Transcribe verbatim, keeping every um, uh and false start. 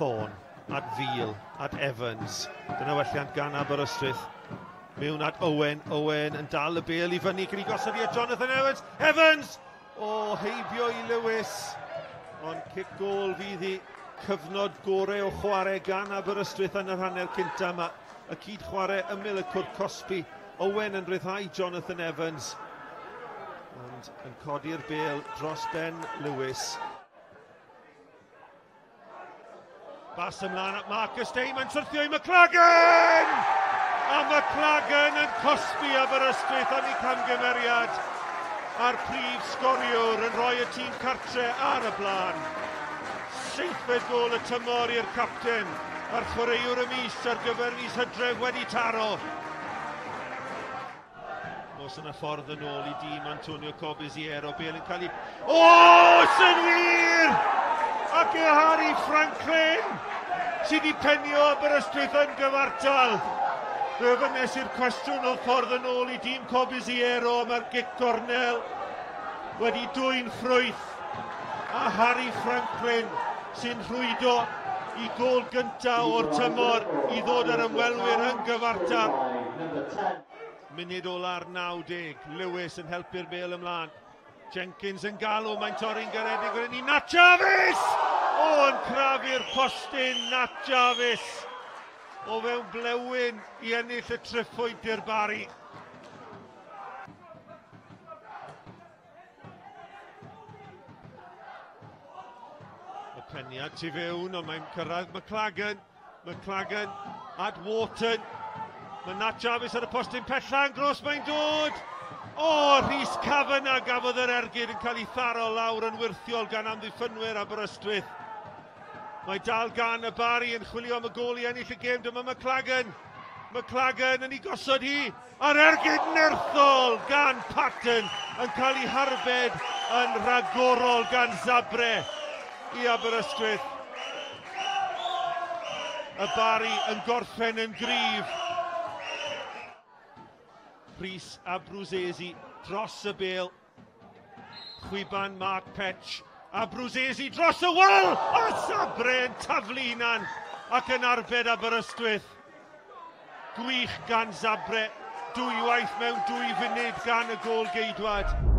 Thorne, at Veal, at Evans. Dyna welliant gan Aberystwyth. Mewn at Owen, Owen yn dal y bêl i fyny, cyn i gosod i at Jonathan Evans. Evans! O, heibio i Lewis. Ond cic gôl fydd hi. Cyfnod gorau o chwarae gan Aberystwyth yn yr hanner cynta yma. Y cyd chwarae ymyl y cwrt cosbi. Owen yn rhyddhau Jonathan Evans. Ond yn codi'r bêl dros ben Lewis. Bas ymlaen at Marcus Day, mae'n syrthio i McLagan! A McLagan yn cosbi Aberystwyth am ei camgymeriad. A'r prif sgoriwr yn rhoi y tîm cartre ar y blaen. Seithfed gôl y tymor i'r capten, a'r chwaraewr y mis ar gyfer mis Hydref wedi taro. Os yna ffordd yn ôl i dîm Antonio Corbisiero, bêl yn cael ei... O, sy'n wir! Ac e Harry Franklin sydd wedi penio Aberystwyth yn gyfartal. Fe ofynnes i'r cwestiwn o ffordd yn ôl i dîm Corbisiero, mae'r gic gornel wedi dwyn ffrwyth. A Harry Franklin sy'n rhwydo i gôl gyntaf o'r tymor i ddod ar ymwelwyr yn gyfartal. Munud ola'r naw deg, Lewis yn helpu'r bêl ymlaen. Jenkins yn galw, mae'n torri'n garedig fan hyn i Nat Jarvis! O, yn crafu'r postyn, Nat Jarvis! O fewn blewyn i ennill y triphwynt i'r Barri. Y peniad tu fewn, ond mae'n cyrraedd McLagan. McLagan at Wharton. Mae Nat Jarvis ar y postyn pella yn gros, mae'n dod! O, Rhys Kavanagh gafodd yr ergyd yn cael ei tharo lawr yn wyrthiol gan amddiffynwyr Aberystwyth. Mae dal gan y Barri yn chwilio am y gôl i ennill y gêm. Dyma McLagan. McLagan yn ei gosod hi. A'r ergyd nerthol gan Patton yn cael ei harbed yn rhagorol gan Zabre i Aberystwyth. Y Barri yn gorffen yn gryf. Rhys Abruzzese dros y bêl. Chwiban Mark Petch. Abruzzese dros y wal! A Zabre yn taflu hunan ac yn arbed Aberystwyth. Gwych gan Zabre. Dwywaith mewn dwy funud gan y gôl geidwad.